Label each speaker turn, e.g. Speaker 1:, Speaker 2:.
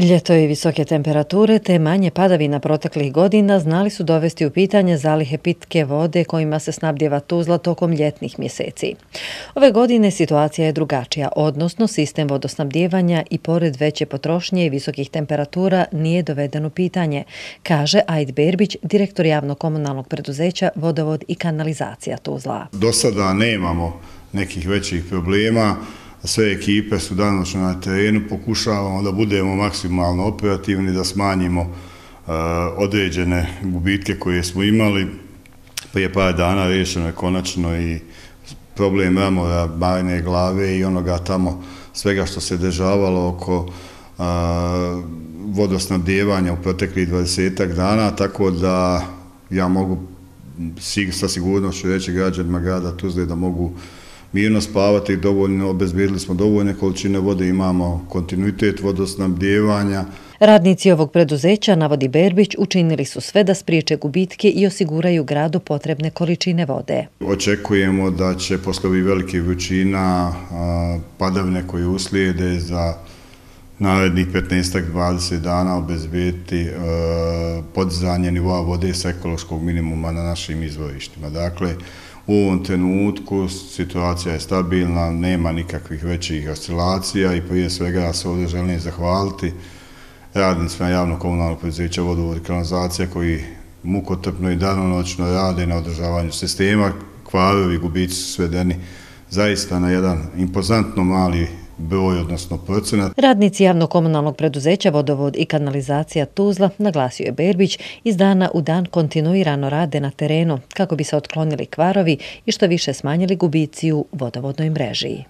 Speaker 1: Ljeto i visoke temperature te manje padavina proteklih godina znali su dovesti u pitanje zalihe pitke vode kojima se snabdijeva Tuzla tokom ljetnih mjeseci. Ove godine situacija je drugačija, odnosno sistem vodosnabdijevanja i pored veće potrošnje i visokih temperatura nije doveden u pitanje, kaže Ajd Berbić, direktor javnog komunalnog preduzeća Vodovod i kanalizacija Tuzla.
Speaker 2: Do sada nemamo nekih većih problema. Sve ekipe su danonoćno na terenu, pokušavamo da budemo maksimalno operativni, da smanjimo određene gubitke koje smo imali. Prije par dana rješeno je konačno i problem Ramora, Bajne glave i onoga tamo svega što se dešavalo oko vodosnabdijevanja u proteklih 20 dana, tako da ja mogu sa sigurnošću reći građanima grada Tuzle da mogu mirno spavati, obezbedili smo dovoljne količine vode, imamo kontinuitet vodosnabdijevanja.
Speaker 1: Radnici ovog preduzeća, navodi Berbić, učinili su sve da spriječe gubitke i osiguraju gradu potrebne količine vode.
Speaker 2: Očekujemo da će posle ovih velikih vrućina padavine koje uslijede za narednih 15-20 dana obezbediti podizanje nivoa vode sa ekološkog minimuma na našim izvorištima. Dakle, u ovom trenutku situacija je stabilna, nema nikakvih većih oscilacija i prije svega ja se ovdje želim zahvaliti radnicima javnog komunalnog preduzeća Vodovod i kanalizacija koji mukotrpno i danonoćno rade na održavanju sistema. Kvarovi, gubici su svedeni zaista na jedan impozantno mali broj, odnosno procenat.
Speaker 1: Radnici javnog komunalnog preduzeća Vodovod i kanalizacija Tuzla, naglasio je Berbić, iz dana u dan kontinuirano rade na terenu kako bi se otklonili kvarovi i što više smanjili gubici u vodovodnoj mreži.